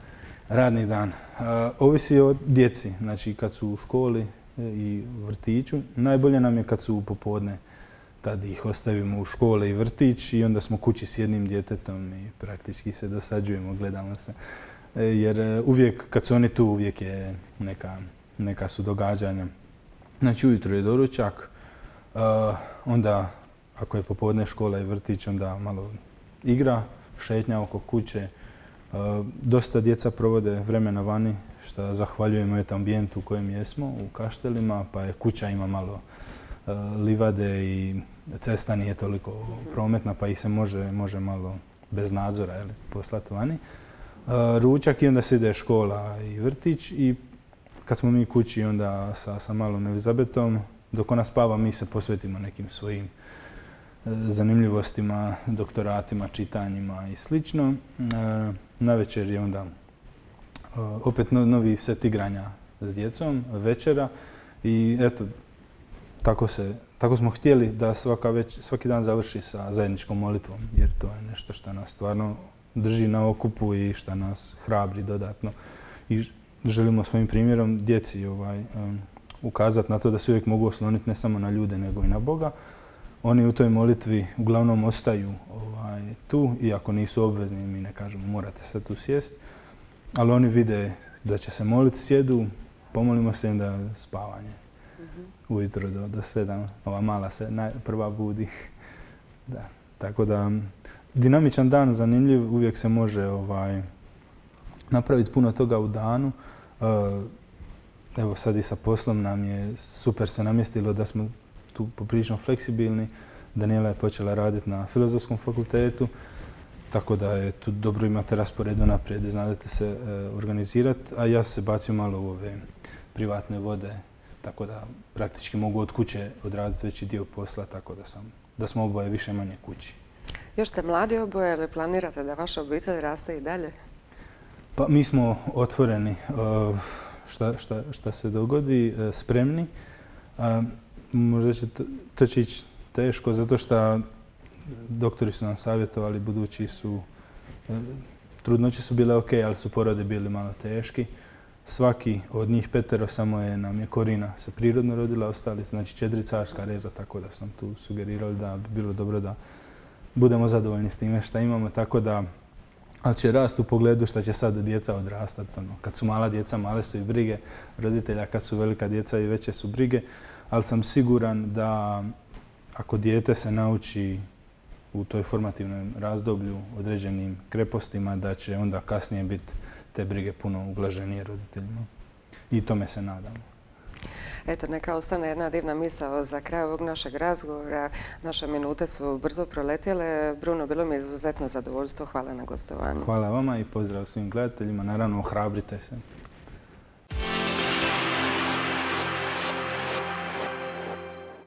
H: Radni dan. Uh, ovisi o djeci, znači kad su u školi i vrtiću. Najbolje nam je kad su popodne, tad ih ostavimo u škole i vrtić i onda smo kući s jednim djetetom i praktički se dosađujemo, gledamo se. Jer uvijek, kad su oni tu, uvijek je neka, neka su događanja. Znači ujutro je doručak, uh, onda ako je popodne škola i vrtić, onda malo igra, šetnja oko kuće. Uh, dosta djeca provode vremena vani, što zahvaljujemo eto ambijentu u kojem jesmo, u Kaštelima, pa je kuća ima malo uh, livade i cesta nije toliko prometna, pa ih se može, može malo bez nadzora jeli, poslati vani. Uh, ručak i onda se ide škola i vrtić i kad smo mi kući onda sa, sa malom Elizabetom, dok ona spava mi se posvetimo nekim svojim uh, zanimljivostima, doktoratima, čitanjima i slično. Uh, Navečer je onda uh, opet no, novi set igranja s djecom, večera i eto, tako, se, tako smo htjeli da svaka već, svaki dan završi sa zajedničkom molitvom, jer to je nešto što nas stvarno drži na okupu i što nas hrabri dodatno. I želimo svojim primjerom djeci ovaj, um, ukazati na to da se uvijek mogu osloniti ne samo na ljude, nego i na Boga. Oni u toj molitvi uglavnom ostaju ovaj, tu, iako nisu obvezni, mi ne kažemo morate sad tu sjest, ali oni vide da će se moliti, sjedu, pomolimo se im da spavanje. Mm-hmm. Ujutro do, do sedam, ova mala se naj, prva budi. Da, tako da, dinamičan dan, zanimljiv, uvijek se može ovaj, napraviti puno toga u danu. Uh, evo sad i sa poslom nam je super se namjestilo da smo tu poprilično fleksibilni. Daniela je počela raditi na Filozofskom fakultetu, tako da je tu dobro imate raspored unaprijed, znate se e, organizirati, a ja se bacio malo u ove privatne vode, tako da praktički mogu od kuće odraditi veći dio posla, tako da, sam, da smo oboje više manje kući.
G: Još ste mladi oboje, ali planirate da vaša obitelj raste i dalje?
H: Pa mi smo otvoreni, šta, šta, šta se dogodi, spremni. Možda će to, to će ići teško, zato što doktori su nam savjetovali, budući su, trudnoće su bile ok, ali su porode bili malo teški. Svaki od njih petero samo je nam je Korina se prirodno rodila, ostali su znači četiri carska reza, tako da sam tu sugerirali da bi bilo dobro da budemo zadovoljni s time što imamo, tako da ali će rast u pogledu što će sad djeca odrastati. Ono, kad su mala djeca, male su i brige roditelja, kad su velika djeca i veće su brige, ali sam siguran da ako dijete se nauči u toj formativnom razdoblju određenim krepostima, da će onda kasnije biti te brige puno ublaženije roditeljima. I tome se nadamo.
G: Eto, neka ostane jedna divna misao za kraj ovog našeg razgovora. Naše minute su brzo proletjele. Bruno, bilo mi je izuzetno zadovoljstvo. Hvala na gostovanju.
H: Hvala vama i pozdrav svim gledateljima. Naravno, ohrabrite se.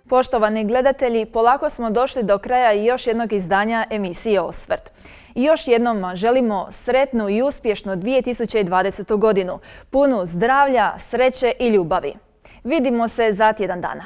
A: Poštovani gledatelji, polako smo došli do kraja i još jednog izdanja emisije Osvrt. I još jednom želimo sretnu i uspješnu dvije tisuće dvadesetu godinu, punu zdravlja, sreće i ljubavi. Vidimo se za tjedan dana.